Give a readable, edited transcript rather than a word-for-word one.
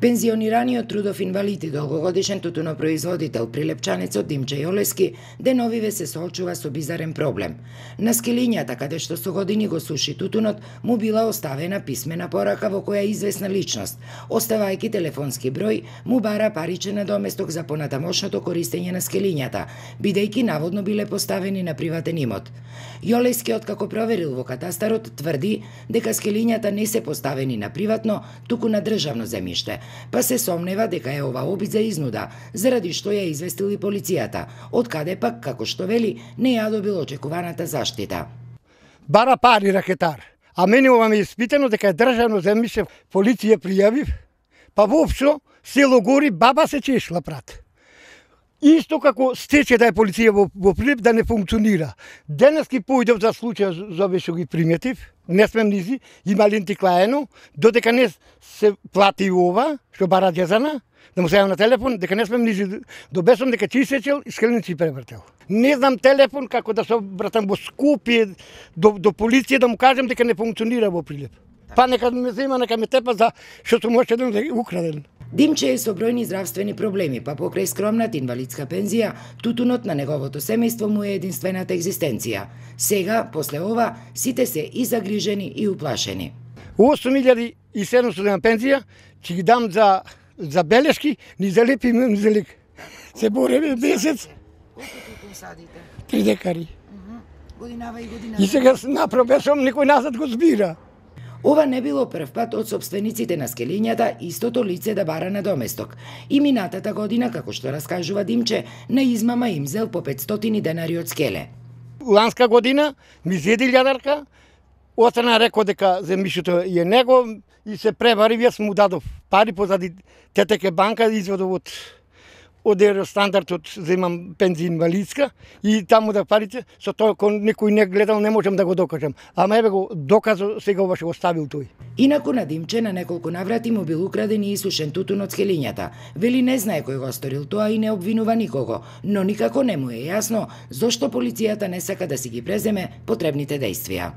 Пензионираниот трудов инвалид и долгогодишен тутунопроизводител Прилепчанецот Димче Јолески деновиве се соочува со бизарен проблем. На скелињата, каде што со години го суши тутунот, му била оставена писмена порака во која известна личност, оставајќи телефонски број, му бара паричен надоместок за понатамошното користење на скелињата, бидејќи наводно биле поставени на приватен имот. Јолески, откако проверил во катастарот, тврди дека скелињата не се поставени на приватно, туку на државно земјиште, па се сомнева дека е ова обид за изнуда, заради што ја известил и полицијата, од каде пак, како што вели, не ја добил очекуваната заштита. Бара пари ракетар, а мене ова ме испитано дека е државно земјиште, полиција пријавив, па воопшто село Гори баба се чешла прат. Исто како стече да е полиција во Прилеп да не функционира. Денески појдев за случај за ве што ги приметив, не смем низи, има лентиклаено, додека не се плати ова, што бара дезана, да му се јавам на телефон, дека не смем низи до бесом, дека чи сечел и скелници превртел. Не знам телефон како да се обратам во Скопје до полиција да му кажем дека не функционира во Прилеп. Па нека ме зема, нека ме тепа за што сум очеден да украден. Димче е со бројни здравствени проблеми, па покрај скромната инвалидска пензија, тутунот на неговото семејство му е единствената екзистенција. Сега, после ова, сите се и загрижени и уплашени. 8700 пензија, ќе ги дам за белешки, ни за леп и ни за лек. Се бореме месец. Колку тутун садите? 3 декари. Годинава и годинава. И сега направо сум, никој назад го збира. Ова не било прв пат од сопствениците на скелињата истото лице да бара надоместок. И минатата година, како што раскажува Димче, на измама им зел по 500 денари од скеле. Ланска година ми зеди лјадарка, остана рекол дека земјишето е него и се превари, јас му дадов пари позади ТТК банка, извадов од Евростандартот, земам пензија инвалидска и таму да парите, со тоа кон некој не гледал, не можам да го докажам. Ама еве го доказо, сега ова што го ставил тој. Инаку на Димче на неколку наврати му бил украден и исушен тутун од скелињата. Вели не знае кој го сторил тоа и не обвинува никого, но никако не му е јасно зошто полицијата не сака да си ги преземе потребните дејствија.